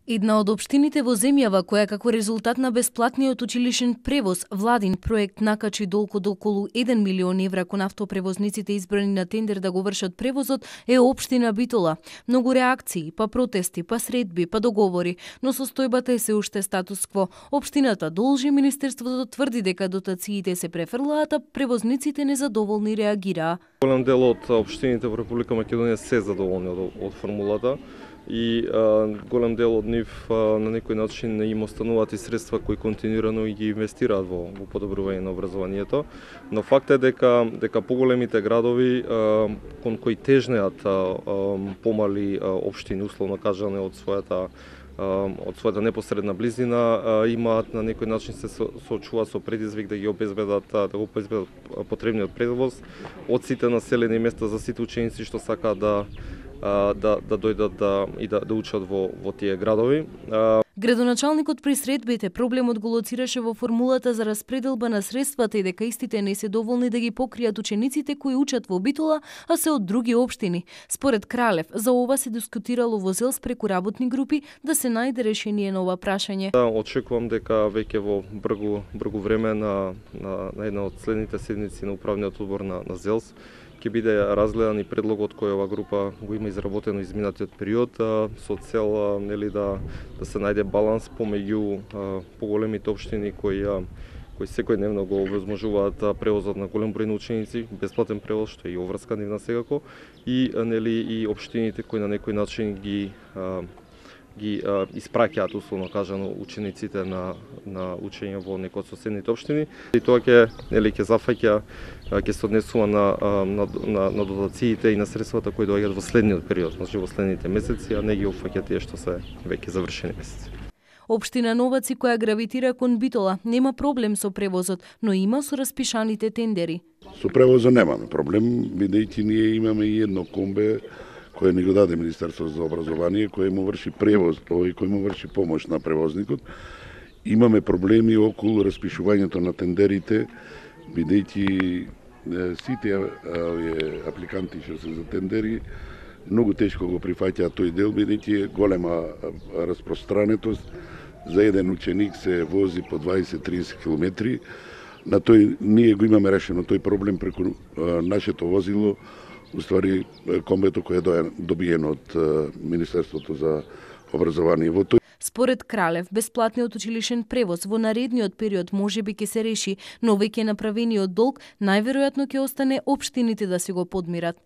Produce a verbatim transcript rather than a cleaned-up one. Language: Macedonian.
Една од општините во земјава која како резултат на бесплатниот училишен превоз владин проект накачи долг од околу еден милион евра кон автопревозниците избрани на тендер да го вршат превозот е општина Битола. Многу реакции, па протести, па средби, па договори, но состојбата е се уште статус-кво. Општината должи, Министерството тврди дека дотациите се префрлаат, а превозниците незадоволни реагираа. Голем дел од општините во Република Македонија се задоволни од, од формулата и а, голем дел од нив а, на некој начин им остануваат и средства кои континуирано ги инвестираат во, во подобрување на образованието, но факт е дека дека поголемите градови а, кон кои тежнеат а, а, помали а, општини, условно кажане, од својата од својата непосредна близина, имаат на некој начин се соочуваат со предизвик да ги обезбедат да го обезбедат потребниот превоз од сите населени места за сите ученици што сакаат да да да дојдат да и да, да учат во во тие градови. Градоначалникот при средбите проблемот го лоцираше во формулата за распределба на средствата и дека истите не се доволни да ги покријат учениците кои учат во Битола, а се од други општини. Според Кралев, за ова се дискутирало во ЗЕЛС преку работни групи да се најде решение на ова прашање. Да, очекувам дека веќе во бргу бргу време на на, на една од следните седници на управниот одбор на, на ЗЕЛС ќе биде разгледан и предлогот кој ова група го има изработено изминатиот период со цел нели да да се најде баланс помеѓу поголемите општини кои кои секојдневно го овозможуваат превозот на голем број на ученици, бесплатен превоз што е и оврска нивна секако, и нели и општините кои на некој начин ги ги а, испраќаат, условно кажано, учениците на на учење во некој од соседните општини. И тоа ќе нели ќе зафаќа, ќе се однесува на на на, на дотациите и на средствата кои доаѓаат во следниот период, значи во следните месеци, а не ги опфаќа тие што се веќе завршени месеци. Општина Новаци, која гравитира кон Битола, нема проблем со превозот, но има со распишаните тендери. Со превозот немаме проблем, бидејќи ние имаме и едно комбе кој ни го даде Министерството за образование, кој му врши превоз, тој кој му врши помош на превозникот. Имаме проблеми околу распишувањето на тендерите, бидејќи сите апликанти што се за тендери многу тешко го прифаќаат тој дел, бидејќи е голема распространетост. За еден ученик се вози по дваесет до триесет километри. На тој ние го имаме решено тој проблем преку нашето возило. Уствари, комбето кој е добиено од Министерството за образование. Во тој... Според Кралев, бесплатниот училишен превоз во наредниот период можеби ќе се реши, но веќе направениот долг најверојатно ќе остане општините да си го подмират.